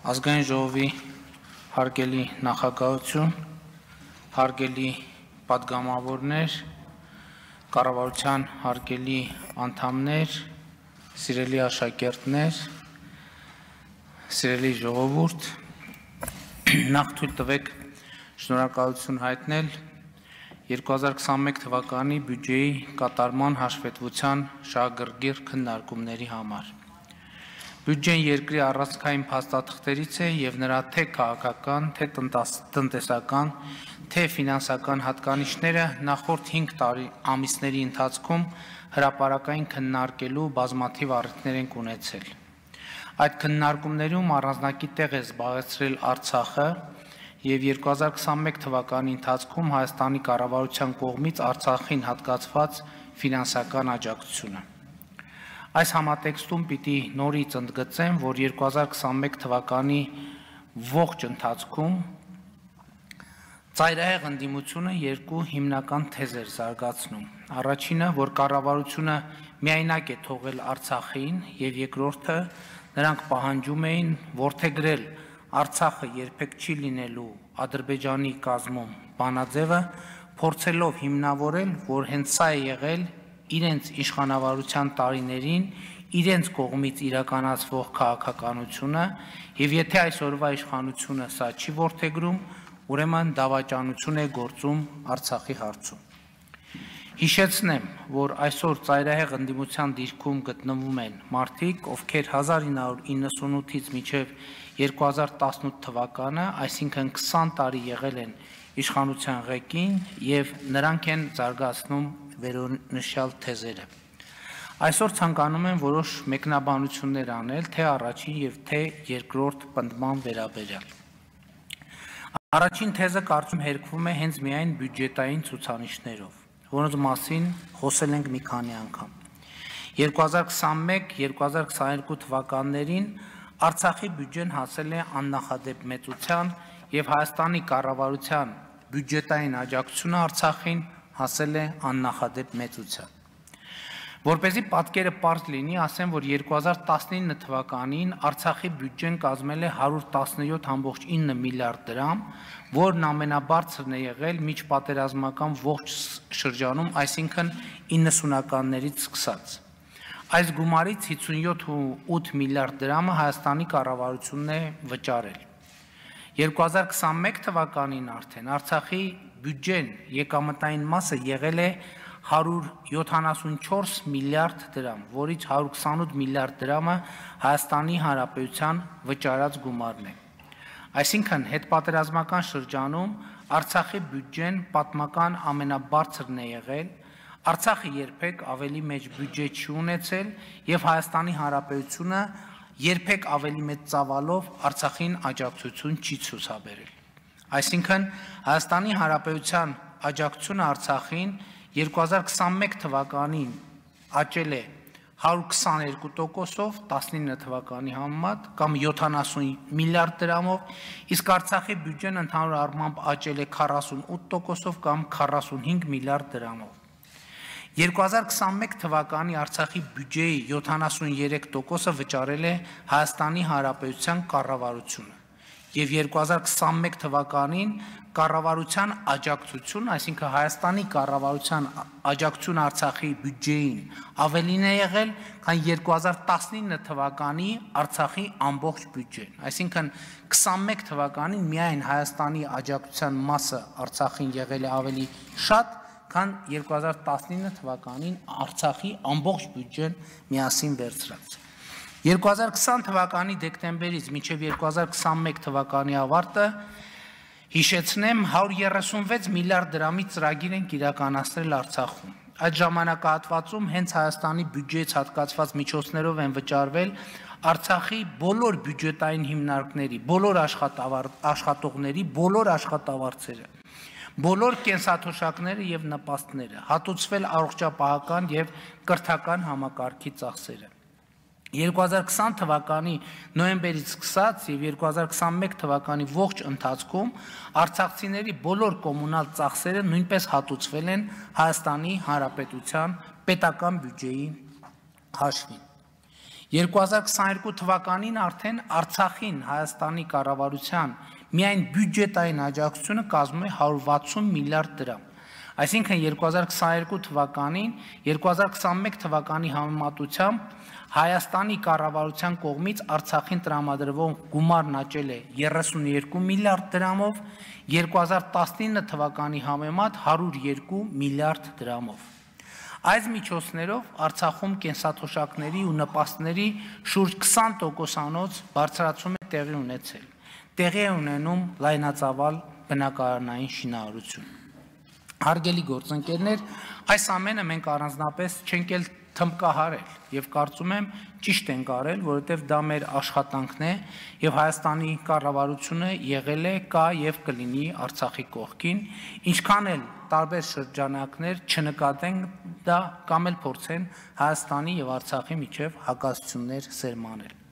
Ազգային ժողովի հարգելի նախագահություն, հարգելի պատգամավորներ, կառավարության հարգելի անդամներ, սիրելի աշակերտներ, սիրելի ժողովուրդ, նախ թույլ տվեք շնորհակալություն հայտնել 2021 թվականի բյուջեի կատարման հաշվետվության շահագրգիռ քննարկումների համար։ Բյուջեն երկրի առանցքային փաստաթղթերից է եւ նրա թե քաղաքական, թե տնտեսական, թե ֆինանսական հատկանիշները նախորդ 5 ամիսների ընթացքում հրապարակային քննարկելու բազմաթիվ առիթներ են ունեցել։ Այդ քննարկումներում առանձնակի տեղ է զբաղեցրել Արցախը եւ 2021 թվականի ընթացքում Հայաստանի կառավարության կողմից Արցախին հատկացված ֆինանսական աջակցությունը։ Այս համատեքստում պիտի նորից ընդգծեմ, որ 2021 թվականի ողջ ընթացքում ծայրահեղ ընդդիմությունը երկու հիմնական թեզեր զարգացնում։ Առաջինը, որ կառավարությունը միայնակ է թողել Արցախին, եւ երկրորդը, նրանք պահանջում էին որդեգրել Արցախը երբեք չի լինելու Ադրբեջանի կազմում բանաձևը, փորձելով հիմնավորել, որ հենց սա է եղել իրենց իշխանավարության տարիներին իրենց կողմից իրականացվող քաղաքականությունը եւ եթե այսօրվա իշխանությունը սա չի որդեգրում, ուրեմն դավաճանություն է գործում Արցախի հարցում։ Հիշեցնեմ, որ այսօր ծայրահեղ ընդդիմության դիրքում գտնվում են մարդիկ, ովքեր 1998-ից մինչև 2018 թվականը, այսինքն 20 տարի եղել են իշխանության ղեկին եւ նրանք են զարգացնում վերոնշյալ թեզերը։ Այսօր ցանկանում եմ որոշ մեկնաբանություններ անել թե առաջին եւ թե երկրորդ պնդման վերաբերյալ։ Առաջին թեզը կարծում հերկվում է հենց միայն բյուջետային ցուցանիշներով, որոնց մասին խոսել ենք մի քանի անգամ։ 2021-2022 թվականներին Արցախի բյուջեն հասել է աննախադեպ մեծության եւ Հայաստանի կառավարության բյուջետային աջակցությունը Արցախին հասել է աննախադեպ մեծության։ Որպեսզի պատկերը պարզ լինի, ասեմ, որ 2019 թվականին Արցախի բյուջեն կազմել է 117.9 միլիարդ դրամ, որն ամենաբարձրն է եղել միջպատերազմական ողջ շրջանում, այսինքն 90-ականներից սկսած։ Այս գումարից 57.8 միլիարդ դրամը Հայաստանի կառավարությունն է վճարել։ 2021 թվականին արդեն Արցախի բյուջեն եկամտային մասը եղել է 174 միլիարդ դրամ, որից 128 միլիարդ դրամը Հայաստանի Հանրապետության վճարած գումարն է։ Այսինքն հետպատերազմական շրջանում Արցախի բյուջեն պատմական ամենաբարձրն է եղել, Արցախը երբեք ավելի մեծ բյուջե չի ունեցել եւ Հայաստանի Հանրապետությունը երբեք ավելի մեծ ծավալով Արցախին աջակցություն չի ցուցաբերել։ Այսինքն Հայաստանի Հանրապետության աջակցությունը Արցախին 2021 թվականին աճել է 122%-ով 19 թվականի համեմատ կամ 70 միլիարդ դրամով, իսկ Արցախի բյուջեն ընդհանուր առմամբ աճել է 48%-ով կամ 45 միլիարդ դրամով։ 2021 թվականի Արցախի բյուջեի 73%-ը վճարել է Հայաստանի Հանրապետության կառավարությունը եւ 2021 թվականին կառավարության աջակցություն, այսինքն Հայաստանի կառավարության աջակցություն Արցախի բյուջեին ավելին է եղել, քան 2019 թվականի Արցախի ամբողջ բյուջեն, այսինքն 21 թվականին միայն Հայաստանի աջակցության մասը Արցախին եղել է ավելի շատ, քան 2019 թվականին Արցախի ամբողջ բյուջեն միասին վերցրած։ 2020 թվականի դեկտեմբերից մինչև 2021 թվականի ավարտը հիշեցնեմ 136 միլիարդ դրամի ծրագիր են իրականացրել Արցախում։ Այդ ժամանակահատվածում հենց Հայաստանի բյուջեից հատկացված միջոցներով են վճարվել Արցախի բոլոր բյուջետային հիմնարկների, բոլոր աշխատողների, բոլոր աշխատավարձերը, բոլոր կենսաթոշակները եւ նպաստները, հատուցվել առողջապահական եւ կրթական համակարգի ծախսերը։ 2020 թվականի նոյեմբերից սկսած եւ 2021 թվականի ողջ ընթացքում արցախցիների բոլոր կոմունալ ծախսերը նույնպես հատուցվել են Հայաստանի Հանրապետության պետական բյուջեի հաշվին։ 2022 թվականին արդեն Արցախին Հայաստանի կառավարության միայն բյուջետային աջակցությունը կազմում է 160 միլիարդ դրամ։ Այսինքն 2022 թվականին 2021 թվականի համեմատությամբ Հայաստանի կառավարության կողմից Արցախին տրամադրվող գումարն աճել է 32 միլիարդ դրամով, 2019 թվականի համեմատ 102 միլիարդ դրամով։ Այս միջոցներով Արցախում կենսաթոշակների ու նպաստների շուրջ 20%-անոց բարձրացում է տեղի ունեցել։ Տեղի է ունենում լայնածավալ բնակարանային շինարարություն։ Հարգելի գործընկերներ, այս ամենը մենք առանձնապես չենք էլ թմբկահարել եւ կարծում եմ ճիշտ ենք արել, որովհետեւ դա մեր աշխատանքն է եւ Հայաստանի կառավարությունը եղել է, կա եւ կլինի Արցախի կողքին, ինչքան էլ տարբեր շրջանակներ չնկատեն դա կամ էլ փորձեն Հայաստանի եւ Արցախի միջև հակասություններ սերմանել։